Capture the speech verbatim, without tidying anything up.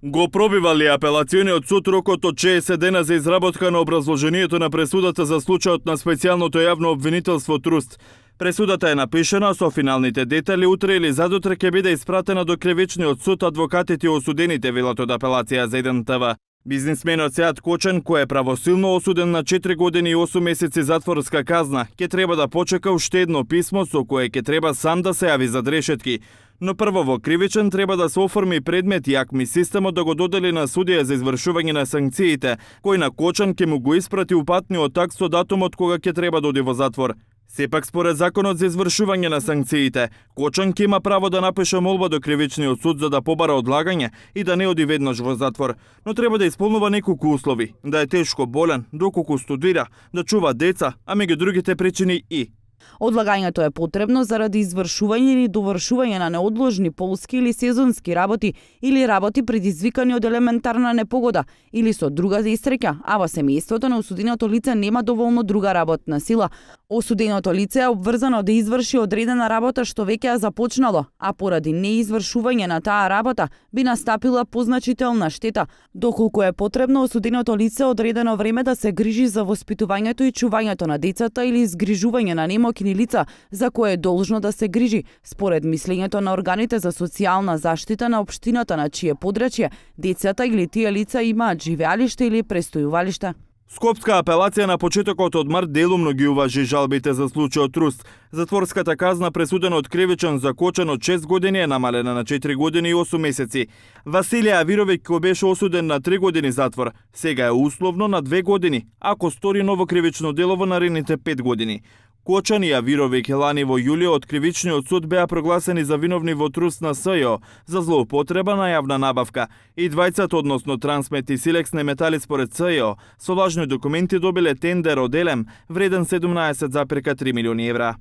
Го пробивали апелациониот суд рокот од шеесет дена за изработка на образложението на пресудата за случајот на специјалното јавно обвинителство Труст. Пресудата е напишана со финалните детали утре или задутре ќе биде испратена до кривичниот суд, адвокатите и осудените велат од апелација за еден те ве. Бизнисменот Сеат Кочан, кој е правосилно осуден на четири години и осум месеци затворска казна, ќе треба да почека уште едно писмо со кое ќе треба сам да се јави за решетки. Но прво во кривичен треба да се оформи предмет и АКМИ системот да го додели на судија за извршување на санкциите, кој на Кочан ќе му го испрати упатниот акт со датумот кога ќе треба да оди во затвор. Сепак според законот за извршување на санкциите, Кочан ќе има право да напише молба до кривичниот суд за да побара одлагање и да не оди веднаш во затвор, но треба да исполнува неколку услови: да е тешко болен, доколку студира, да чува деца, а меѓу другите причини и одлагањето е потребно заради извршување или довршување на неодложни полски или сезонски работи или работи предизвикани од елементарна непогода или со друга истреќа, а во семејството на осуденото лице нема доволно друга работна сила. Осуденото лице е обврзано да изврши одредена работа што веќе е започнало, а поради неизвршување на таа работа би настапила позначителна штета, доколку е потребно осуденото лице одредено време да се грижи за воспитувањето и чувањето на децата или изгрижување на немокни лица за кое е должно да се грижи, според мислењето на органите за социјална заштита на општината на чие подрачје децата или тие лица имаат живеалиште или престојувалиште. Скопска апелација на почетокот од март делумно ги уважи жалбите за случајот Труст. Затворската казна пресудена од кривичен за Кочан од шест години е намалена на четири години и осум месеци. Василија Авировиќ, кој беше осуден на три години затвор, сега е условно на две години, ако стори ново кривично дело во наредните пет години. Кочан и Авировиќ лани во јулио од кривичниот суд беа прогласени за виновни во Труст на СЈО за злоупотреба на јавна набавка. И двајцата, односно Трансмет и Силекс Неметали според СЈО, со лажни документи добиле тендер од Елем вреден седумнаесет зарем три милиони евра.